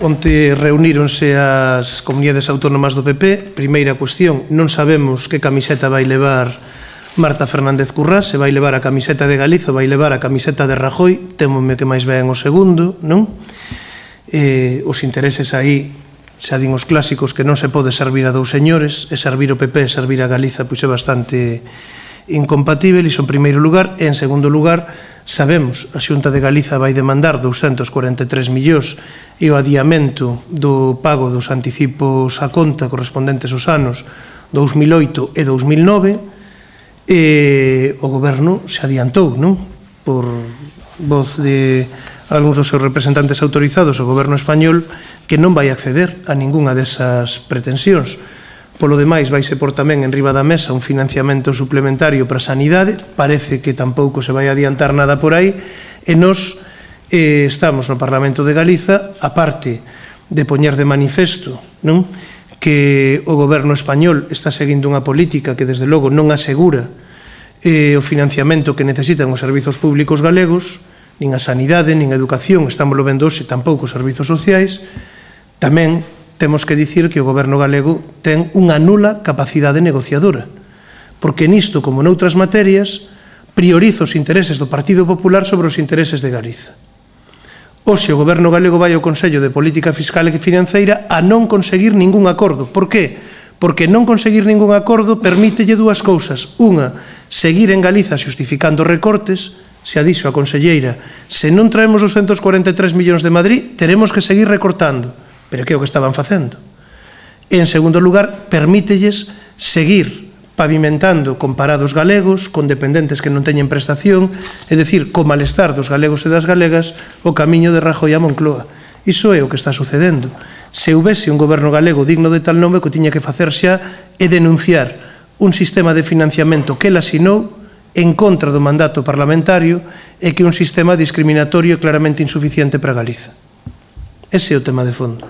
onte reuníronse as comunidades autónomas do PP. Primeira cuestión, non sabemos que camiseta vai levar Marta Fernández Currás, se vai levar a camiseta de Galiza ou vai levar a camiseta de Rajoy. Témome que máis ben o segundo, non? Os intereses aí, xa din os clásicos, que non se pode servir a dous señores, e servir o PP e servir a Galiza pois é bastante incompatible, iso en primeiro lugar. E en segundo lugar, sabemos, a Xunta de Galiza vai demandar 243 millóns e o adiamento do pago dos anticipos a conta correspondentes aos anos 2008 e 2009, e o Goberno se adiantou, non? Por voz de algúns dos seus representantes autorizados, o Goberno español, que non vai acceder a ningunha desas pretensións. Polo demais, vaise por tamén en riba da mesa un financiamento suplementario para a sanidade. Parece que tampouco se vai adiantar nada por aí, e nós estamos no Parlamento de Galiza, a parte de poñer de manifesto, non, que o Goberno español está seguindo unha política que, desde logo, non asegura o financiamento que necesitan os servizos públicos galegos, nin a sanidade, nin a educación, estamos lo vendo hoxe, tampouco os servizos sociais. Tamén temos que dicir que o Goberno galego ten unha nula capacidade negociadora, porque nisto, como noutras materias, prioriza os intereses do Partido Popular sobre os intereses de Galiza. Hoxe o Goberno galego vai ao Consello de Política Fiscal e Financeira a non conseguir ningún acordo. Por que? Porque non conseguir ningún acordo permítelle dúas cousas. Unha, seguir en Galiza xustificando recortes. Se a dixo a conselleira, se non traemos os 143 millóns de Madrid, teremos que seguir recortando. Pero que é o que estaban facendo? E, en segundo lugar, permítelles seguir pavimentando con parados galegos, con dependentes que non teñen prestación, é dicir, co malestar dos galegos e das galegas, o camiño de Rajoy a Moncloa. Iso é o que está sucedendo. Se houvese un goberno galego digno de tal nome, o que tiña que facer xa é denunciar un sistema de financiamento que el asinou en contra do mandato parlamentario e que é un sistema discriminatorio e claramente insuficiente para Galiza. Ese é o tema de fondo.